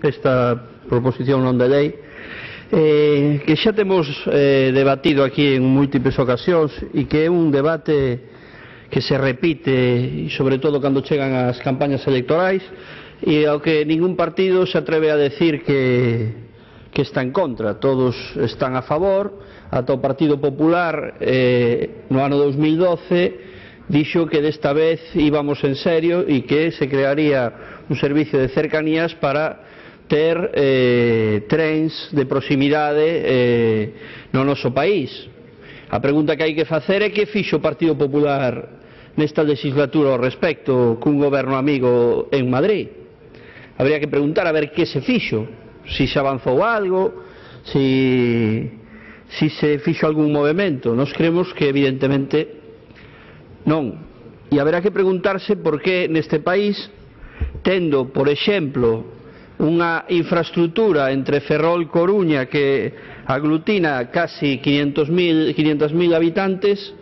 esta proposición non de lei que xa temos debatido aquí en múltiples ocasións e que é un debate que se repite e sobre todo cando chegan as campañas electorais e ao que ningún partido se atreve a decir que está en contra. Todos están a favor. Ata o Partido Popular no ano 2012 dixo que desta vez íbamos en serio e que se crearía un servicio de cercanías para ter trens de proximidade no noso país. A pregunta que hai que facer é que fixo o Partido Popular nesta legislatura ao respecto cun goberno amigo en Madrid. Habría que preguntar a ver que se fixo, si se avanzou algo, si se fixo algún movimento. Nós creemos que evidentemente non. E haberá que preguntarse por que neste país, tendo, por exemplo, unha infraestructura entre Ferrol-Coruña que aglutina casi 500.000 habitantes,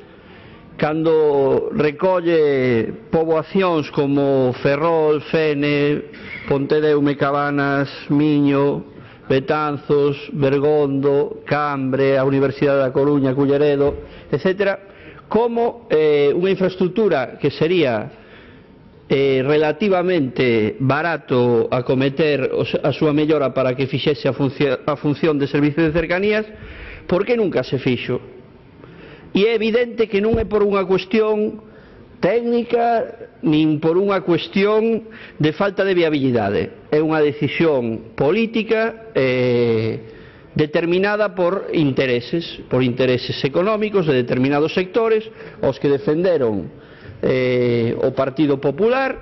cando recolle poboacións como Ferrol, Fene, Pontedeume, Cabanas, Miño, Betanzos, Bergondo, Cambre, a Universidade da Coruña, Culleredo, etc., como unha infraestructura que sería relativamente barato acometer a súa mellora para que fixese a función de servicio de cercanías, por que nunca se fixo? E é evidente que non é por unha cuestión técnica nin por unha cuestión de falta de viabilidade. É unha decisión política determinada por intereses económicos de determinados sectores, os que defenderon o Partido Popular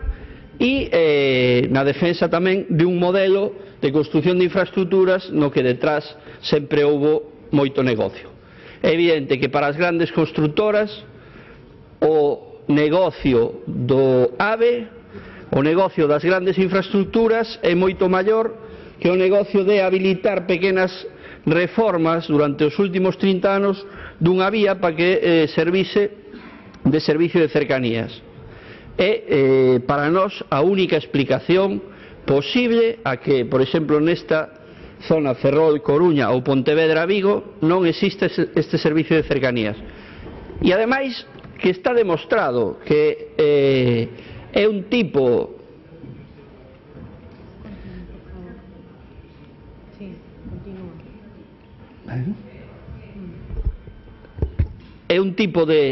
e na defensa tamén de un modelo de construción de infraestructuras no que detrás sempre houbo moito negocio. É evidente que para as grandes constructoras o negocio do AVE, o negocio das grandes infraestructuras é moito maior que o negocio de habilitar pequenas reformas durante os últimos 30 anos dunha vía para que servise de servicio de cercanías. É para nós a única explicación posible a que, por exemplo, nesta zona Ferrol-Coruña ou Pontevedra-Vigo non existe este servicio de cercanías. E ademais que está demostrado que é un tipo de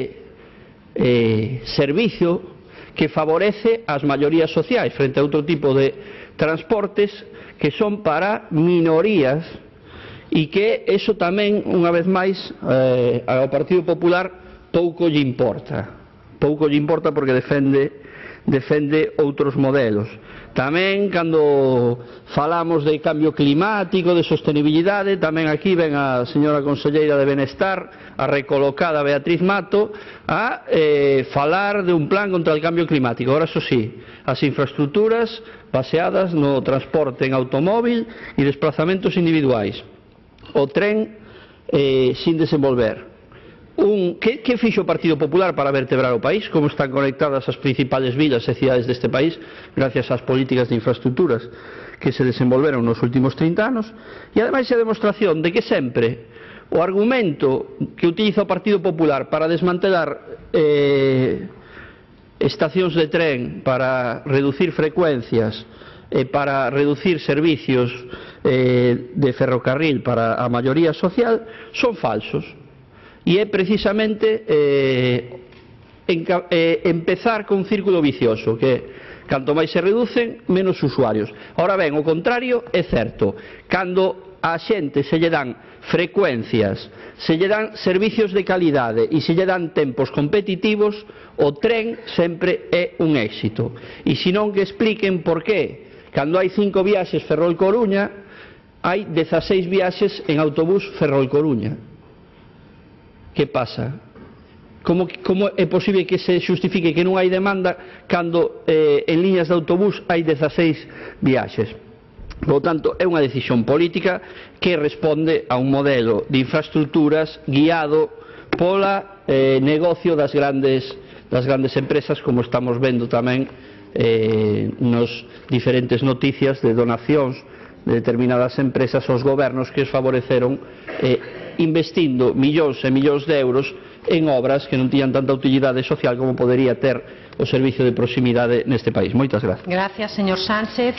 servicio que favorece as maiorías sociais frente a outro tipo de transportes que son para minorías e que eso tamén, unha vez máis, ao Partido Popular pouco lle importa porque defende outros modelos. Tamén cando falamos de cambio climático, de sostenibilidade, tamén aquí ven a señora conselleira de Benestar, a recolocada Beatriz Mato, a falar de un plan contra o cambio climático. Ahora, eso sí, as infraestructuras baseadas no transporte en automóvil e desplazamentos individuais. O tren sin desenvolver. Que fixo o Partido Popular para vertebrar o país? Como están conectadas as principales vilas e cidades deste país gracias ás políticas de infraestructuras que se desenvolveron nos últimos 30 anos? E ademais é a demostración de que sempre o argumento que utiliza o Partido Popular para desmantelar estacións de tren, para reducir frecuencias e para reducir servicios de ferrocarril para a maioría social son falsos. E é precisamente empezar con un círculo vicioso que canto máis se reducen, menos usuarios. Ahora ben, o contrario é certo. Cando a xente se lle dan frecuencias, se lle dan servicios de calidade e se lle dan tempos competitivos, o tren sempre é un éxito. E senón que expliquen por que cando hai 5 viaxes Ferrol-Coruña hai 16 viaxes en autobús Ferrol-Coruña. Que pasa? Como é posible que se justifique que non hai demanda cando en liñas de autobús hai 16 viaxes? Por tanto, é unha decisión política que responde a un modelo de infraestructuras guiado pola negocio das grandes empresas, como estamos vendo tamén nos diferentes noticias de donacións de determinadas empresas aos gobernos que os favoreceron investindo millóns e millóns de euros en obras que non tiñan tanta utilidade social como podería ter o servicio de proximidade neste país. Moitas gracias. Gracias, señor Sánchez.